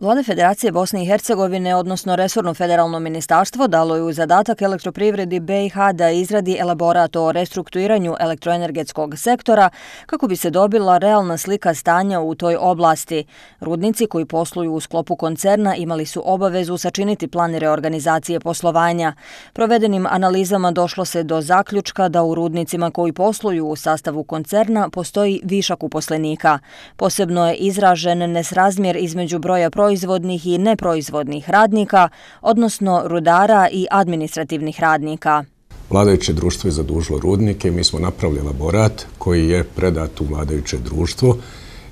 Vlada Federacije Bosne i Hercegovine, odnosno resorno federalno ministarstvo, dalo je u zadatak Elektroprivredi BiH da izradi elaborat o restrukturiranju elektroenergetskog sektora kako bi se dobila realna slika stanja u toj oblasti. Rudnici koji posluju u sklopu koncerna imali su obavezu sačiniti plan reorganizacije poslovanja. Provedenim analizama došlo se do zaključka da u rudnicima koji posluju u sastavu koncerna postoji višak uposlenika. Posebno je izražen nesrazmjer između broja proizvodnih i neproizvodnih radnika, odnosno rudara i administrativnih radnika. Vladajuće društvo je zadužilo rudnike i mi smo napravili elaborat koji je predat u vladajuće društvo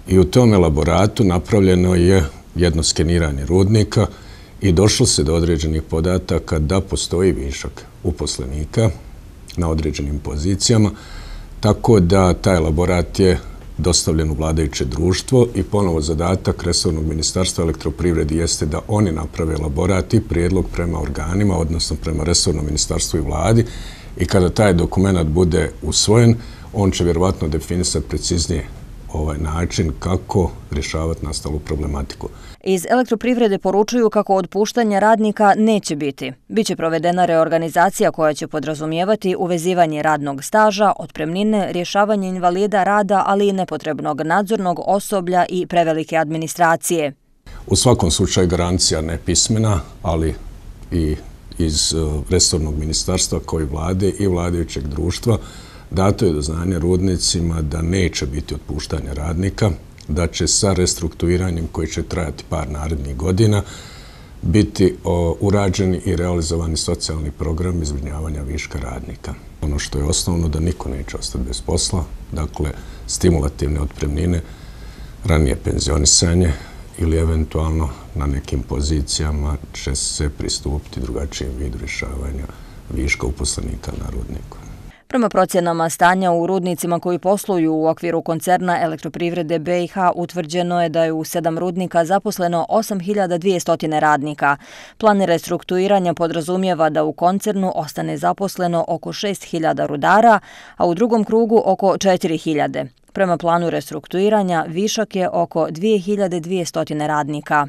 i u tom elaboratu napravljeno je jedno skeniranje rudnika i došlo se do određenih podataka da postoji višak uposlenika na određenim pozicijama, tako da taj elaborat je dostavljen u vladajuće društvo i ponovo zadatak resornog ministarstva elektroprivredi jeste da oni naprave elaborat i prijedlog prema organima, odnosno prema resornom ministarstvu i vladi, i kada taj dokument bude usvojen, on će vjerovatno definisati preciznije ovaj način kako rješavati nastalu problematiku. Iz Elektroprivrede poručuju kako otpuštanja radnika neće biti. Biće provedena reorganizacija koja će podrazumijevati uvezivanje radnog staža, otpremnine, rješavanje invalida rada, ali i nepotrebnog nadzornog osoblja i prevelike administracije. U svakom slučaju garancija nepismena, ali i iz resornog ministarstva koji vlade i vladajućeg društva dato je do znanja rudnicima da neće biti otpuštanja radnika, da će sa restrukturiranjem koji će trajati par narednih godina biti urađeni i realizovani socijalni program zbrinjavanja viška radnika. Ono što je osnovno da niko neće ostati bez posla, dakle stimulativne otpremnine, ranije penzionisanje ili eventualno na nekim pozicijama će se pristupiti drugačijem vidu rješavanja viška uposlenika na rudniku. Prema procjenama stanja u rudnicima koji posluju u okviru koncerna Elektroprivrede BiH utvrđeno je da je u 7 rudnika zaposleno 8.200 radnika. Plan restrukturiranja podrazumijeva da u koncernu ostane zaposleno oko 6.000 rudara, a u drugom krugu oko 4.000. Prema planu restrukturiranja višak je oko 2.200 radnika.